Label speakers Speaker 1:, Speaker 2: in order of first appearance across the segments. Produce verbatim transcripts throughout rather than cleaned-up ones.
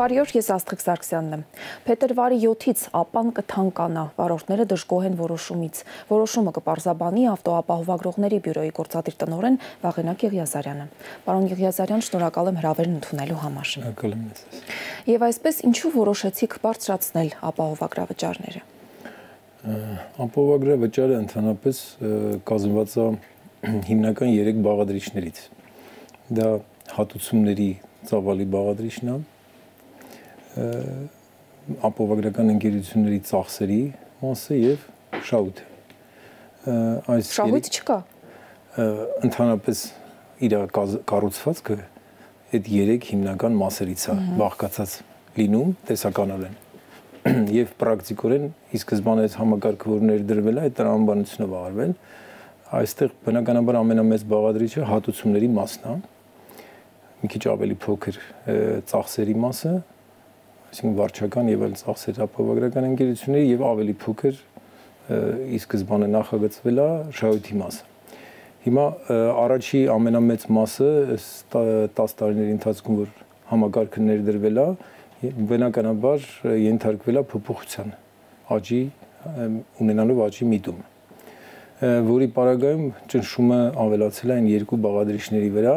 Speaker 1: Բարի օր, ես Աստղիկ Սարգսյանն եմ։ Փետրվարի յոթից ԱՊԱ-ն կթանկանա, վարորդները դժգոհ են որոշումից։ Որոշումը կպարզաբանի ավտոապահովագրողների բյուրոյի գործադիր տնօրեն Վաղենակ Եղիազարյանը։ Պարոն Եղիազարյան, շնորհակալ եմ հրավերն ընդունելու համար։
Speaker 2: Շնորհակալ եմ ես։
Speaker 1: Եվ այսպես ինչու որոշեցիք բարձրացնել ապահովագրավճարները։
Speaker 2: Ապահովագրավճարը ընդհանրապես կազմված է հիմնական երեք բաղադրիչներից։ Դա հատուցումների ծավալի բաղադրիչն է, ապահովագրական ընկերությունների ծախսերի մասը եւ շահույթը։ Այս
Speaker 1: շահույթ չկա։
Speaker 2: Ընդհանրապես իր կառուցվածքը այդ երեք հիմնական մասերից է բաղկացած լինում տեսականորեն եւ պրակտիկորեն ի սկզբանե այս համակարգը որ ներդրվել է, այդ տրամաբանությունը վարվել, այստեղ բնականաբար ամենամեծ բաղադրիչը հատուցումների մասն է, մի քիչ ավելի փոքր ծախսերի մասը, այսինքն վարչական եւ այլ ծախսեր ապահովագրական ընկերությունների եւ ավելի փոքր ի սկզբանե նախագծվել է շահույթի մասը։ Հիմա առաջի ամենամեծ մասը տասը տարիների ընթացքում որ համակարգը ներդրվել է, բնականաբար ենթարկվել է փոփոխության, աճի ունենալով աճի միտում, որի պարագայում ճնշումը ավելացել է այն երկու բաղադրիչների վրա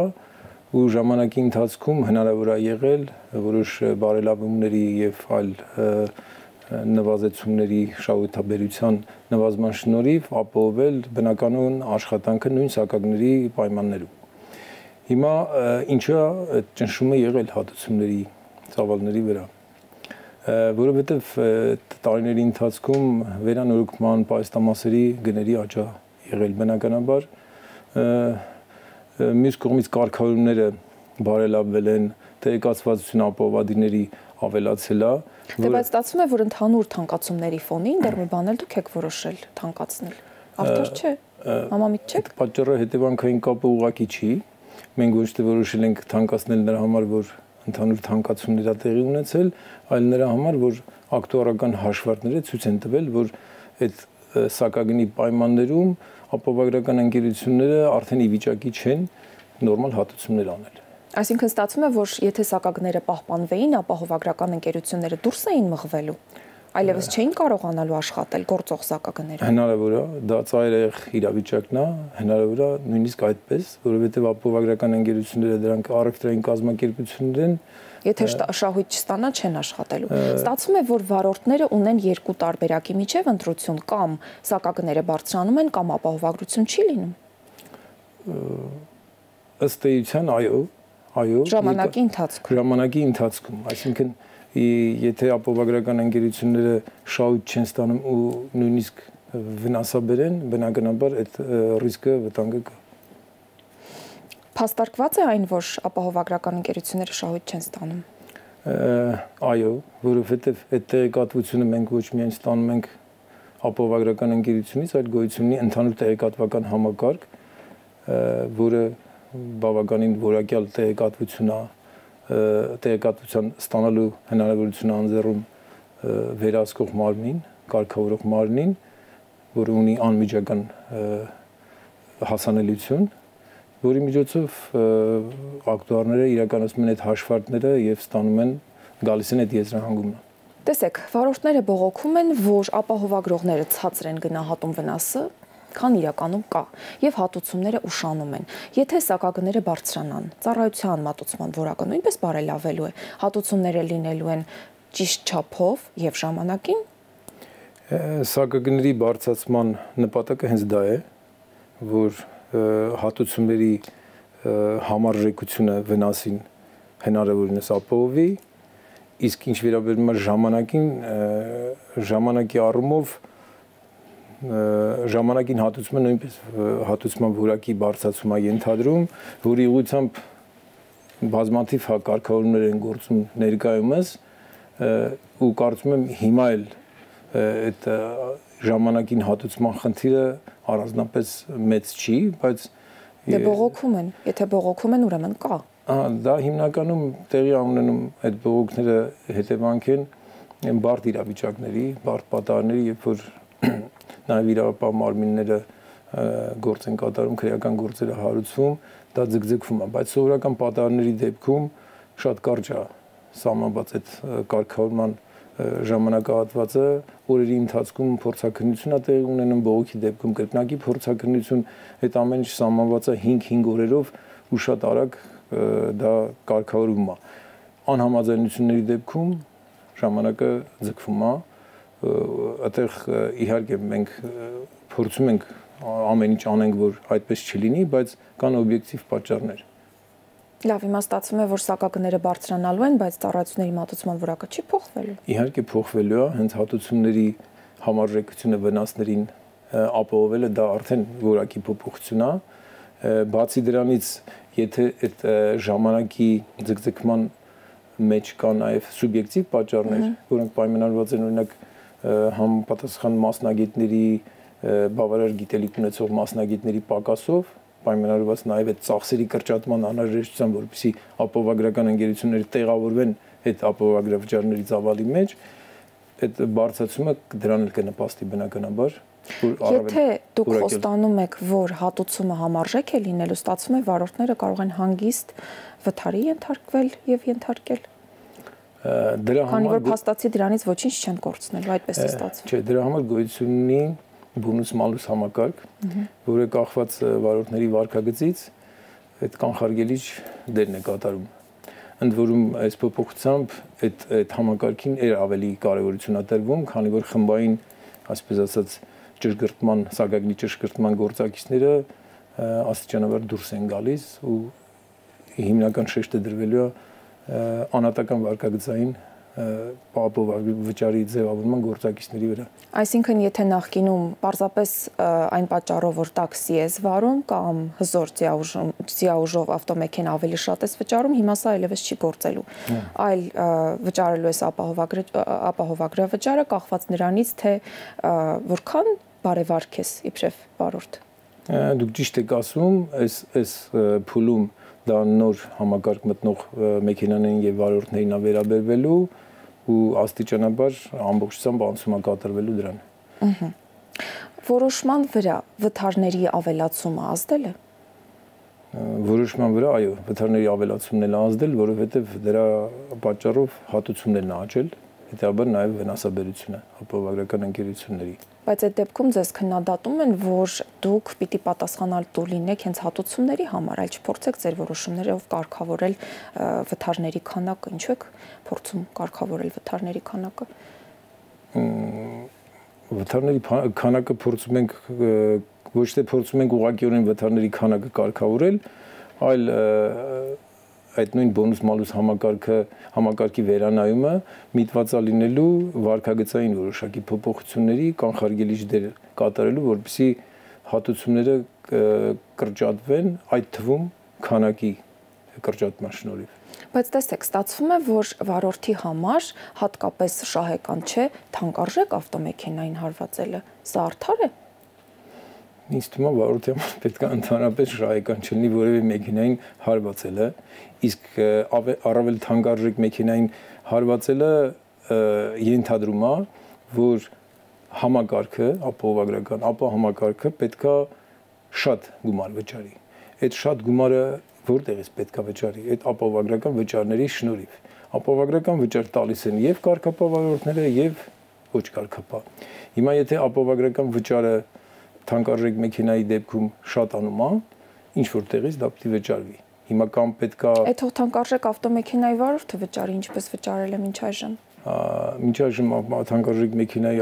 Speaker 2: ու ժամանակի ընթացքում հնարավոր է եղել որոշ բարելավումների եւ այլ նվազեցումների շահութաբերության նվազման շնորհիվ ապահովել բնականon աշխատանքը նույն սակագների պայմաններում։ Հիմա ինչա այդ ճնշումը եղել հատուցումների ծավալների վրա, որովհետև տարիների ընթացքում վերանորոգման պայստամասերի գների աճ է եղել բնականաբար, մյուս կողմից կարգավորումները բարելավվել են, տեղեկացվածությունը ապահովադիրների ավելացել է,
Speaker 1: բայց ստացվում է որ ընդհանուր թանկացումների ֆոնին դեռ մի բան էլ դուք եք որոշել թանկացնել։ Արդար չէ, համամիտ չեք։
Speaker 2: Պատճառը հետևանքային կապը ուղղակի չի, մենք ոչ թե որոշել ենք թանկացնել նրա համար, որ ընդհանուր թանկացումներ է տեղի ունեցել, այլ նրա համար, որ ակտուարական հաշվարկները ցույց են տվել, որ այդ սակագնի պայմաններում ապահովագրական ընկերությունները արդեն ի վիճակի չեն նորմալ հատուցումներ անել։
Speaker 1: Այսինքն ստացվում է, որ եթե սակագները պահպանվեին, ապահովագրական ընկերությունները դուրս էին մղվելու, այլևս չէին կարողանալու աշխատել գործող սակագները։
Speaker 2: Հնարավոր է, դա ծայրահեղ իրավիճակն է, հնարավոր է նույնիսկ այդպես, որովհետև ապահովագրական ընկերությունները դրանք առևտրային կազմակերպություններ են,
Speaker 1: եթե շահույթ չստանա չեն աշխատելու։ Ստացվում է, որ վարորդները ունեն երկու տարբերակի միջև ընտրություն, կամ սակագները բարձրանում են, կամ ապահովագրություն չի լինում։
Speaker 2: Ըստ էության, այո, այո,
Speaker 1: ժամանակի ընթացքում։
Speaker 2: Ժամանակի ընթացքում, այսինքն եթե ապահովագրական ընկերությունները շահույթ չեն ստանում ու նույնիսկ վնասաբեր են, բնականաբար այդ ռիսկը վտանգը կա։
Speaker 1: Փաստարկված է այն, որ ապահովագրական ընկերությունները շահույթ չեն ստանում։
Speaker 2: Այո, որովհետև այդ տեղեկատվությունը մենք ոչ միայն ստանում ենք ապահովագրական ընկերությունից, այլ գոյություն ունի ընդհանուր տեղեկատվական համակարգ, որը բավականին որակյալ տեղեկատվություն է, տեղեկատվության ստանալու հնարավորություն անձեռում վերահսկող մարմին, կարգավորող մարմնին, որը ունի անմիջական հասանելիություն, որի միջոցով ակտուարները իրականացնում են այդ հաշվարկները եւ ստանում են գալիս են այդ եզրահանգումը։
Speaker 1: Տեսեք, վարորդները բողոքում են, որ ապահովագրողները ցածր են գնահատում վնասը, քան իրականում կա, եւ հատուցումները ուշանում են։ Եթե սակագները բարձրանան, ծառայության մատուցման որակը նույնպես բարելավելու է, հատուցումները լինելու են ճիշտ չափով եւ ժամանակին։
Speaker 2: Սակագների բարձրացման նպատակը հենց դա է, որ հատուցումների համարժեքությունը վնասին հնարավորինս ապահովի, իսկ ինչ վերաբերում է ժամանակին, ժամանակի առումով ժամանակին հատուցումը նույնպես հատուցման որակի բարձրացում է ենթադրում, որի ուղղությամբ բազմաթիվ կարգավորումներ են գործում ներկայումս ու կարծում եմ հիմա էլ այդ ժամանակին հատուցման խնդիրը առանձնապես մեծ չի, բայց
Speaker 1: դե բողոքում են, եթե բողոքում են, ուրեմն կա։
Speaker 2: Դա հիմնականում տեղի ունենում այդ բողոքները հետևանք են բարդ իրավիճակների, բարդ պատահարների, երբ որ նաև իրավապահ մարմինները գործ են կատարում, քրեական գործերը հարուցվում, դա ձգձգվում է, բայց սովորական պատահարների դեպքում շատ կարճ է սահմանված այդ կարգավորման ժամանակահատվածը օրերի ընթացքում փորձաքննություն է տեղի ունենում, բողոքի դեպքում կրկնակի փորձաքննություն, այդ ամեն ինչ սահմանված է հինգ-հինգ օրերով ու շատ արագ դա կարգավորվում է։ Անհամաձայնությունների դեպքում ժամանակը ձգվում է, այդտեղ իհարկե մենք փորձում ենք ամեն ինչ անենք, որ այդպես չլինի, բայց կան օբյեկտիվ պատճառներ։
Speaker 1: Լավ, հիմա ստացվում է, որ սակագները բարձրանալու են, բայց ծառայությունների մատուցման որակը չի փոխվելու։
Speaker 2: Իհարկե փոխվելու է, հենց հատուցումների համարժեքությունը վնասներին ապահովելը դա արդեն որակի փոփոխություն է։ Բացի դրանից, եթե այդ ժամանակի ձգձգման մեջ կա նաև սուբյեկտիվ պատճառներ, որոնք պայմանավորված են օրինակ համապատասխան մասնագետների բավարար գիտելիք ունեցող մասնագետների պակասով, պայմանավորված նաև այդ ծախսերի կրճատման անհրաժեշտությամբ, որպեսզի ապահովագրական ընկերությունները տեղավորվեն այդ ապահովագրավճարների ծավալի մեջ, այդ բարձրացումը դրան էլ կնպաստի բնականաբար։
Speaker 1: Եթե դուք խոստանում եք, որ հատուցումը համարժեք է լինելու, ստացվում է վարորդները կարող են հանգիստ վթարի ենթարկվել եւ ենթարկել։
Speaker 2: Դրա
Speaker 1: համար որ փաստացի դրանից ոչինչ չեն կորցնելու, այդպես է ստացվում։
Speaker 2: Չէ, դրա համար գոյություն ունի բոնուս-մալուս համակարգ, որը կախված վարորդների վարքագծից այդ կանխարգելիչ դերն է կատարում։ Ընդ որում այս փոփոխությամբ այդ այդ համակարգին էր ավելի կարևորություն տրվում, քանի որ խմբային, այսպես ասած, ճշգրտման, սակագնի ճշգրտման գործակիցները աստիճանաբար դուրս են գալիս ու հիմնական շեշտը դրվելու է անհատական վարկագծային ապահովագրվճարի ձևավորման գործակիցների վրա։
Speaker 1: Այսինքն, եթե նախկինում պարզապես այն պատճառով, որ տաքսի ես վարում կամ հզոր ձիաուժով ավտոմեքենա ավելի շատ ես վճարում, հիմա սա այլևս չի գործելու, այլ վճարելու ես ապահովագրավճարը կախված նրանից, թե որքան բարևարք ես իբրև վարորդ։
Speaker 2: Դուք ճիշտ եք ասում, այս այս փուլում դա նոր համակարգ մտնող մեքենաներին եւ վարորդներին է վերաբերվելու ու աստիճանաբար ամբողջությամբ անցումա կատարվելու դրան։
Speaker 1: Ահա։ Որոշման վրա վթարների ավելացումը ազդել է։
Speaker 2: Որոշման վրա, այո, վթարների ավելացումն էլ ազդել, որովհետեւ դրա պատճառով հատուցումներն են աճել, հետեւաբար նաեւ վնասաբերությունը ապահովագրական ընկերությունների։
Speaker 1: Բայց այդ դեպքում ձեզ քննադատում են, որ դուք պիտի պատասխանատու լինեք հենց հատուցումների համար, այլ չփորձեք ձեր որոշումներով կարգավորել վթարների քանակը, ինչու եք փորձում կարգավորել վթարների քանակը։
Speaker 2: Վթարների քանակը փորձում ենք ոչ թե փորձում ենք ուղղակիորեն վթարների քանակը կարգավորել, այլ այդ նույն բոնուս-մալուս համակարգը համակարգի վերանայումը միտված է լինելու վարկագծային որոշակի փոփոխությունների կանխարգելիչ դեր կատարելու, որպեսզի հատուցումները կրճատվեն, այդ թվում քանակի կրճատման շնորհիվ։
Speaker 1: Բայց տեսեք, ստացվում է, որ վարորդի համար հատկապես շահեկան չէ թանկարժեք ավտոմեքենային հարվածելը։ Սա արդար է։
Speaker 2: Ինձ թվում է վարորդի համար պետք է ընդհանրապես շահեկան չլինի որևէ մեքենային հարվածելը, իսկ առավել թանկարժեք մեքենային հարվածելը ենթադրում է, որ համակարգը, ապահովագրական, ապա համակարգը պետք է շատ գումար վճարի։ Այդ շատ գումարը որտեղից պետք է վճարի։ Այդ ապահովագրական վճարների շնորհիվ։ Ապահովագրական վճար տալիս են եւ կարգապահ եւ ոչ կարգապահ։ Հիմա եթե ապահովագրական վճարը թանկարժեք մեքենայի դեպքում շատանում է, ինչ որտեղից դա պետք է վճարվի։ Հիմա կամ պետքա
Speaker 1: Այդ թանկարժեք ավտոմեքենայի վարորդը վճարի, ինչպես վճարել է մինչ այժմ։
Speaker 2: Մինչ այժմ թանկարժեք մեքենայի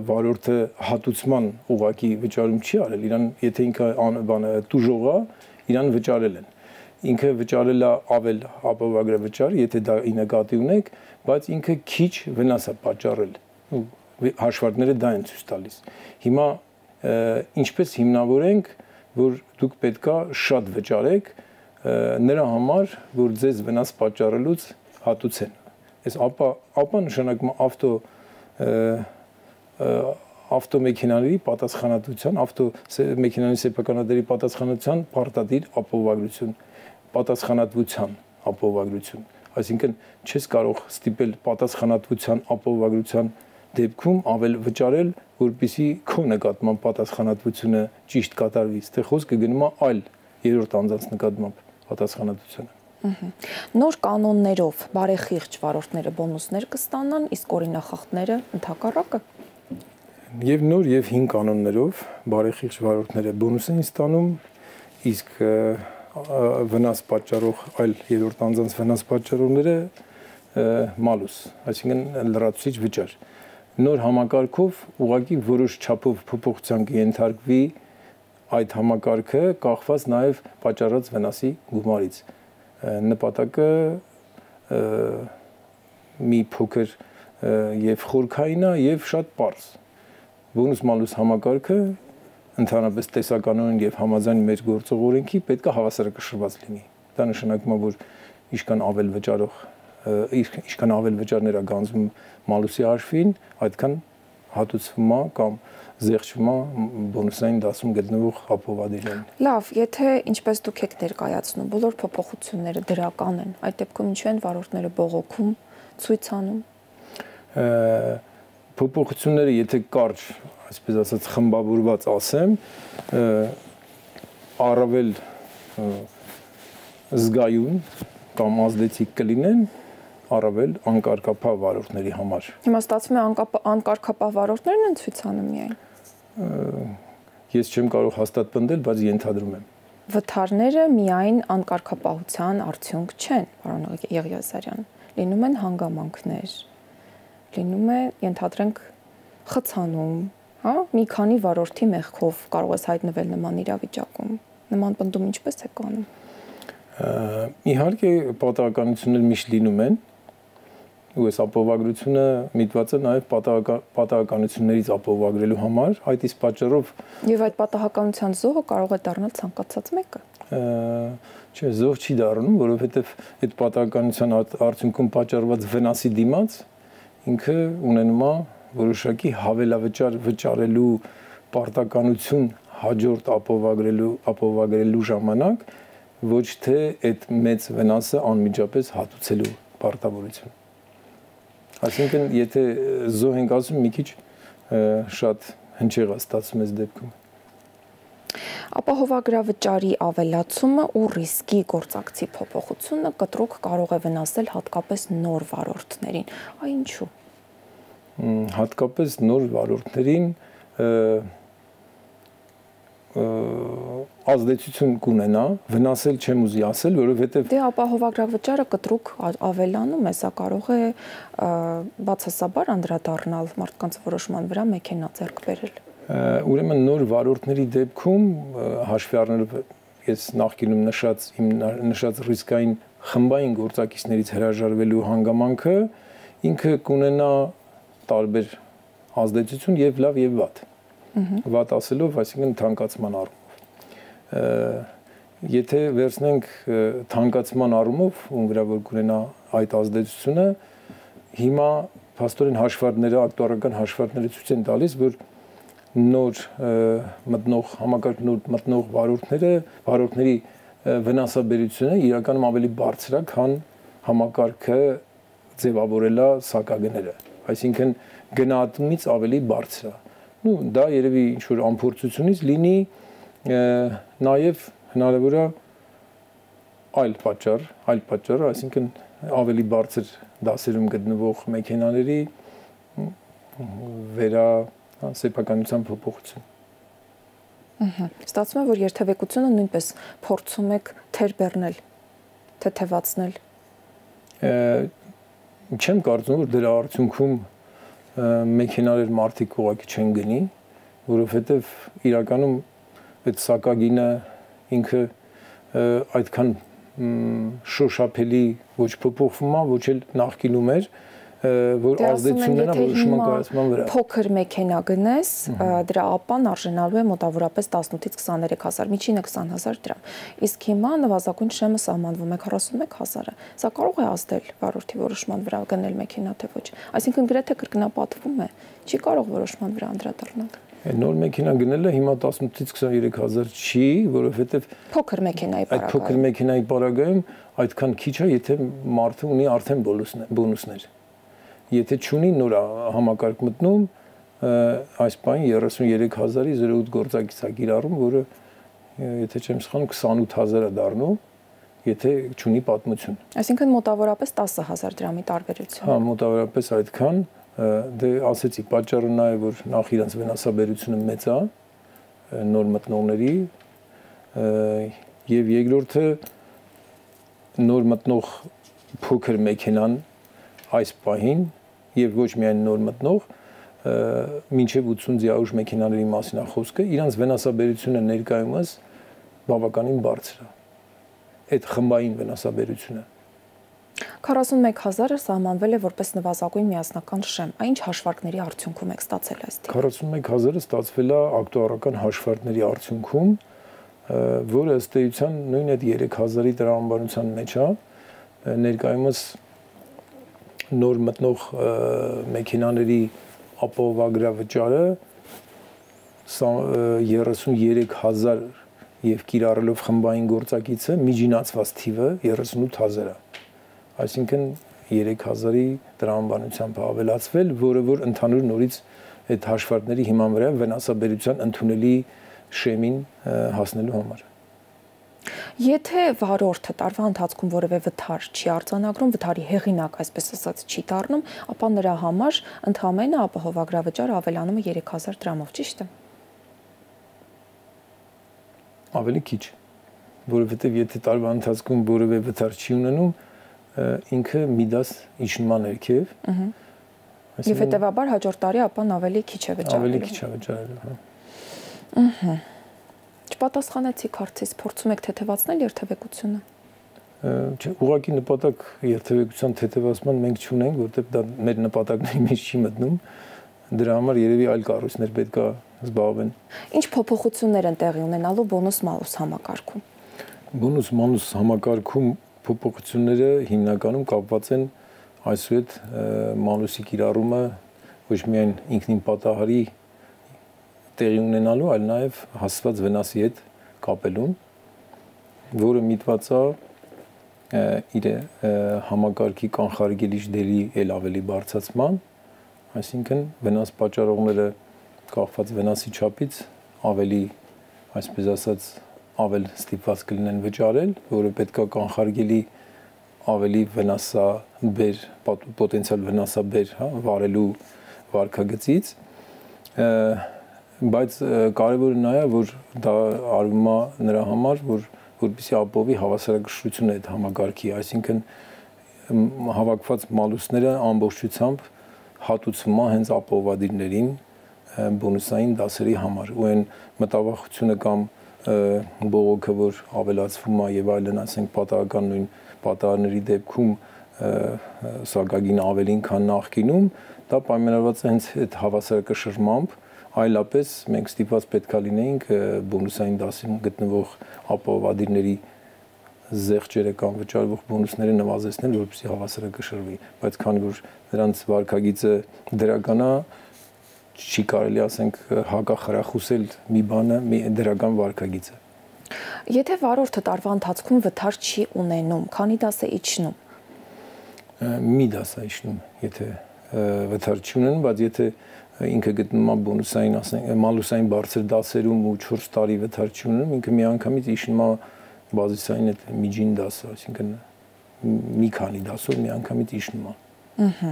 Speaker 2: վարորդը հատուցման ուղղակի վճարում չի արել, իրան եթե ինքը բանը տուժող է, իրան վճարել են։ Ինքը վճարել է ավել ապահովագրավճար, եթե դա ի նկատի ունեք, բայց ինքը քիչ վնաս է պատճառել։ Հաշվարկները դա են ցույց տալիս։ Հիմա ինչպես հիմնավորենք, որ դուք պետքա շատ վճարեք նրա համար, որ ձեզ վնաս պատճառելուց հատուցեն։ Այս ապա ապա նշանակում է ավտո ավտոմեքենաների պատասխանատվության, ավտո մեքենաների սեփականատերի պատասխանատվության պարտադիր ապահովագրություն, պատասխանատվության ապահովագրություն։ Այսինքն չես կարող ստիպել պատասխանատվության ապահովագրության դեպքում ավել վճարել, որպեսզի քո նկատմամբ պատասխանատվությունը ճիշտ կատարվի։ Ստե խոսքը գնում է այլ երրորդ անձանց նկատմամբ պատասխանատվությունը։
Speaker 1: Նոր կանոններով բարեխիղճ վարորդները բոնուսներ կստանան, իսկ օրինախախտները ընդհակառակը։
Speaker 2: Եվ նոր եւ հին կանոններով բարեխիղճ վարորդները բոնուս են ստանում, իսկ վնաս պատճառող այլ երրորդ անձանց վնաս պատճառողները մալուս, այսինքն լրացուցիչ վճար։ Նոր համակարգով ուղղակի որոշ չափով փոփոխության կենթարկվի այդ համակարգը կախված նաև պատճառած վնասի գումարից։ Նպատակը մի փոքր եւ խորքային է եւ շատ պարզ։ Բոնուս մալուս համակարգը ընդհանրապես տեսականորեն եւ համաձայն մեր գործող օրենքի պետք է հավասարակշռված լինի։ Դա նշանակում է, որ ինչքան ավել վճարող ինչքան ավել վճարներ է գանձվում մալուսի հաշվին, այդքան հատուցվում է կամ զեղչվում է բոնուսային դասում գտնվող ապովադերին։
Speaker 1: Լավ, եթե ինչպես դուք եք ներկայացնում, բոլոր փոփոխությունները դրական են, այդ դեպքում ինչու են վարորդները բողոքում, ցույց անում։
Speaker 2: Փոփոխությունները, եթե կարճ, այսպես ասած, խմբավորված ասեմ, առավել զգայուն կամ ազդեցիկ կլինեն առավել անկարգապահ վարորդների համար։
Speaker 1: Հիմա ստացվում է անկարգապահ վարորդներն են ցույց անում միայն։
Speaker 2: Ես չեմ կարող հաստատ պնդել, բայց ենթադրում եմ։
Speaker 1: Վթարները միայն անկարգապահության արդյունք չեն, պարոն Եղիազարյան։ Լինում են հանգամանքներ, լինում է, ենթադրենք, խցանում, հա, մի քանի վարորդի մեղքով կարող ես հայտնվել նման իրավիճակում։ Նման պնդում ինչպես է կանում։
Speaker 2: Իհարկե պատահականություններ միշտ լինում են, ու այս ապովագրությունը միտված է նաև պատահականություններից ապովագրելու համար, այդ իսկ պատճառով
Speaker 1: եւ այդ պատահականության զոհը կարող է դառնալ ցանկացած մեկը։
Speaker 2: Չէ, զոհ չի դառնում, որովհետեւ այդ պատահականության արդյունքում պատճառված վնասի դիմաց ինքը ունենում է որոշակի հավելավճար վճարելու պարտականություն հաջորդ ապովագրելու ապովագրելու ժամանակ, ոչ թե այդ մեծ վնասը անմիջապես հատուցելու պարտավորություն։ Այսինքն, եթե զոհ ենք ասում, մի քիչ շատ հնչեղ է ստացվում այս դեպքում։
Speaker 1: Ապահովագրավճարի ավելացումը ու ռիսկի գործակցի փոփոխությունը կտրուկ կարող է վնասել հատկապես նոր վարորդներին։ Այ ինչու։
Speaker 2: Հատկապես նոր վարորդներին ազդեցություն կունենա, վնասել չեմ ուզի ասել, որովհետև
Speaker 1: դե ապահովագրավճարը կտրուկ ավելանում է, սա կարող է բացասաբար անդրադառնալ մարդկանց որոշման վրա մեքենա ձեռք բերել։
Speaker 2: Ուրեմն նոր վարորդների դեպքում հաշվի առնելով ես նախկինում նշած իմ նշած ռիսկային խմբային գործակիցներից հրաժարվելու հանգամանքը ինքը կունենա տարբեր ազդեցություն եւ լավ եւ վատ։ Վատ ասելով, այսինքն թանկացման առումով։ Եթե վերցնենք թանկացման առումով, ում վրա որ կունենա այդ ազդեցությունը, հիմա փաստորեն հաշվարկները, ակտուարական հաշվարկները ցույց են տալիս, որ նոր մտնող համակարգ նոր մտնող վարորդները, վարորդների վնասաբերությունը իրականում ավելի բարձր է, քան համակարգը ձևավորելա սակագները։ Այսինքն գնահատումից ավելի բարձր է։ Նու դա երևի ինչ որ ամփոփությունից լինի նաև հնարավոր է այլ պատճառ, այլ պատճառ, այսինքն ավելի բարձր դասերում գտնվող մեքենաների վերա սեփականության փոփոխություն։
Speaker 1: Ահա, ստացվում է, որ երթևեկությունը նույնպես փորձում եք թեր բեռնել, թեթևացնել։
Speaker 2: Չեմ կարծում, որ դրա արդյունքում մեքենաներ մարդիկ ուղղակի չեն գնի, որովհետև իրականում այդ սակագինը ինքը այդքան շոշափելի ոչ փոփոխվում է, ոչ էլ նախկինում էր, որ ազդեցությունն է որոշման կայացման վրա։
Speaker 1: Փոքր մեքենա գնես, դրա ապան արժանալու է մոտավորապես տասնութից քսաներեք հազար, միջինը քսան հազար դրամ։ Իսկ հիմա նվազագույն շեմը սահմանվում է քառասունմեկ հազարը։ Սա կարող է ազդել վարորդի որոշման վրա գնել մեքենա թե ոչ։ Այսինքն գրեթե կրկնապատվում է, չի կարող որոշման վրա անդրադառնալ։
Speaker 2: Նոր մեքենա գնելը հիմա տասնութից քսաներեք հազար չի, որովհետև
Speaker 1: փոքր մեքենայի
Speaker 2: պարագայում, այդ փոքր մեքենայի պարագայում այդքան քիչ է, եթե մարդը ունի արդեն բոնուսներ։ Եթե չունի նոր համակարգ մտնում, այս բան երեսուններեք հազարի զրո ութ գործակից է կիրառում, որը եթե չեմ սխալվում քսանութ հազար է դառնում, եթե չունի պատմություն։
Speaker 1: Այսինքն մոտավորապես տասը հազար դրամի տարբերություն։
Speaker 2: Հա, մոտավորապես այդքան, դե ասեցի, պատճառը նա է, որ նախ իրանց վնասաբերությունը մեծ է նոր մտնողների, եւ երկրորդը նոր մտնող փոքր մեքենան այս պահին եւ ոչ միայն նոր մտնող մինչեւ ութսուն ձիաուժ մեքենաների մասին է խոսքը, իրանց վնասաբերությունը ներկայումս բավականին բարձր է։ Այդ խմբային վնասաբերությունը
Speaker 1: քառասունմեկ հազարը սահմանվել է որպես նվազագույն միասնական շեմ։ Այն ինչ հաշվարկների արդյունքում եք ստացել այս դեպքում։
Speaker 2: քառասունմեկ հազարը ստացվել է ակտուարական հաշվարկների արդյունքում, որը ըստ էության նույն այդ երեք հազարի տրամաբանության մեջ է, ներկայումս նոր մտնող մեքենաների ապահովագրավճարը երեսուններեք հազար եւ կիրառելով խմբային գործակիցը միջինացված թիվը երեսունութ հազար է։ Այսինքն երեք հազարի տրամաբանությամբ ավելացվել, որը որ ընդհանուր նորից այդ հաշվարկների հիման վրա վնասաբերության ընդունելի շեմին հասնելու համար։
Speaker 1: Եթե վարորդը տարվա ընթացքում որևէ վթար չի արձանագրում, վթարի հեղինակ, այսպես ասած, չի դառնում, ապա նրա համար ընդհանրապես ապահովագրավճարը ավելանում է երեք հազար դրամով, ճիշտ է։
Speaker 2: Ավելի քիչ, որովհետև եթե տարվա ընթացքում որևէ վթար չի ունենում, ինքը մի դաս իջնում է ներքև։
Speaker 1: Եվ հետևաբար հաջորդ տարի ապան ավելի քիչ է վճարելու։
Speaker 2: Ավելի քիչ է վճարելու, հա։
Speaker 1: Ահա։ Չպատասխանեցիք հարցից, փորձում եք թեթևացնել երթևեկությունը։
Speaker 2: Չէ, ուղղակի նպատակ երթևեկության թեթևացման մենք չունենք, որտեղ դա մեր նպատակների մեջ չի մտնում։ Դրա համար երևի այլ կառույցներ պետք է զբաղվեն։
Speaker 1: Ինչ փոփոխություններ են տեղի ունենալու բոնուս-մալուս համակարգում։
Speaker 2: Բոնուս-մալուս համակարգում փոփոխությունները հիմնականում կապված են այսուհետ մալուսի կիրառումը ոչ միայն ինքնին պատահարի տեղի ունենալու, այլ նաև հասցված վնասի հետ կապելուն, որը միտված է իր համակարգի կանխարգելիչ դերի ել ավելի բարձրացման, այսինքն վնաս պատճառողները կախված վնասի չափից ավելի, այսպես ասած, ավել ստիպված կլինեն վճարել, որը պետք է կանխարգելի ավելի վնասաբեր, պոտենցիալ վնասաբեր, հա, վարելու վարքագծից, բայց կարևորը նա է, որ դա արվում է նրա համար, որ որպեսզի ապահովի հավասարակշռությունը այդ համակարգի, այսինքն հավաքված մալուսները ամբողջությամբ հատուցվում է հենց ապահովադիրներին բոնուսային դասերի համար, ու այն մտավախությունը կամ բողոքը, որ ավելացվում է եւ այլն, ասենք պատահական նույն պատահարների դեպքում սակագին ավելին, քան նախկինում, դա պայմանավորված է հենց այդ հավասարակշռմամբ, այլապես մենք ստիպված պետք է լինեինք բոնուսային դասում գտնվող ապահովադիրների զեղչերը կամ վճարվող բոնուսները նվազեցնել, որպեսզի հավասարակշռվի, բայց քանի որ նրանց վարքագիծը դրական է, չի կարելի ասենք հակախրախուսել մի բանը, մի դրական վարքագիծը։
Speaker 1: Եթե վարորդը տարվա ընթացքում վթար չի ունենում, քանի դաս է իջնում։
Speaker 2: Մի դաս է իջնում, եթե վթար չի ունենում, բայց եթե ինքը գտնում է բոնուսային, ասենք, մալուսային բարձր դասերում ու չորս տարի վթար չի ունենում, ինքը միանգամից իջնում է բազիսային այդ միջին դասը, այսինքն մի քանի դասով միանգամից իջնում է։
Speaker 1: Ահա։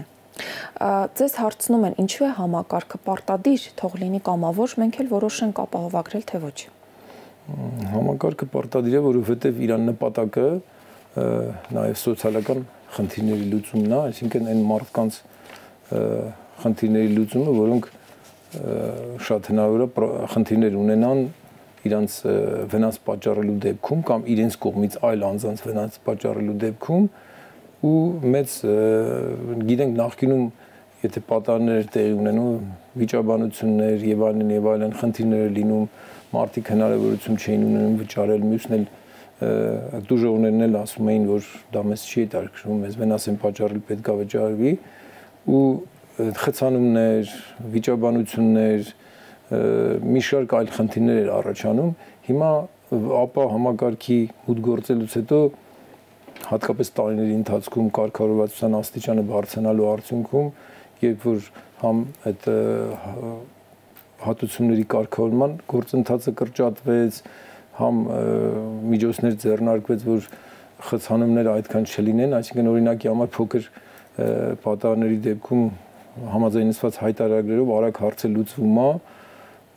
Speaker 1: Ձեզ հարցնում են, ինչու է համակարգը պարտադիր, թող լինի կամավոր, մենք էլ որոշենք ապահովագրել, թե ոչ։
Speaker 2: Համակարգը պարտադիր է, որովհետև իր նպատակը նաև սոցիալական խնդիրների լուծումն է, այսինքն այն մարդկանց խնդիրների լուծումը, որոնք շատ հնարավոր է խնդիրներ ունենան իրանց վնաս պատճառելու դեպքում կամ իրենց կողմից այլ անձանց վնաս պատճառելու դեպքում, ու մեծ գիտենք նախկինում եթե պատահարներ տեղի ունենում վիճաբանություններ եւ այլն եւ այլն խնդիրներ լինում մարդիկ հնարավորություն չէին ունենում վճարել մյուսն էլ դուժողներն էլ ասում էին որ դա մեզ չի հետաքրքրում մեզ վնաս են պատճառել պետք է վճարվի ու խցանումներ վիճաբանություններ մի շարք այլ խնդիրներ էր առաջանում հիմա ապա համակարգի մուտք գործելուց հետո հատկապես տարիների ընթացքում կարգավորվածության աստիճանը բարձրանալու արդյունքում երբ որ համ այդ հատուցումների կարգավորման գործընթացը կրճատվեց համ միջոցներ ձեռնարկվեց որ խցանումները այդքան չլինեն, այսինքն օրինակի համար փոքր պատահարների դեպքում համաձայնեցված հայտարարագրերով արագ հարցը լուծվում է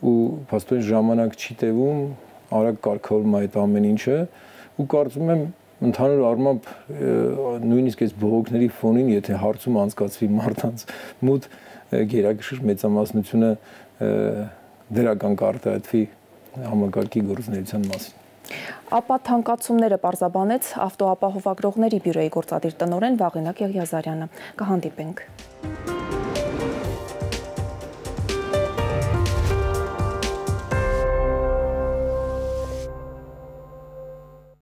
Speaker 2: ու փաստորեն ժամանակ չի տևում, արագ կարգավորվում է այդ ամեն ինչը ու կարծում եմ ընդհանուր առմամբ նույնիսկ այս բողոքների ֆոնին, եթե հարցում անցկացվի մարդանց մոտ գերակշիռ մեծամասնությունը դրական կարտահայտվի համակարգի գործունեության մասին։
Speaker 1: Ապա թանկացումները պարզաբանեց ավտոապահովագրողների բյուրոյի գործադիր տնօրեն Վաղինակ Եղիազարյանը։ Կհանդիպենք։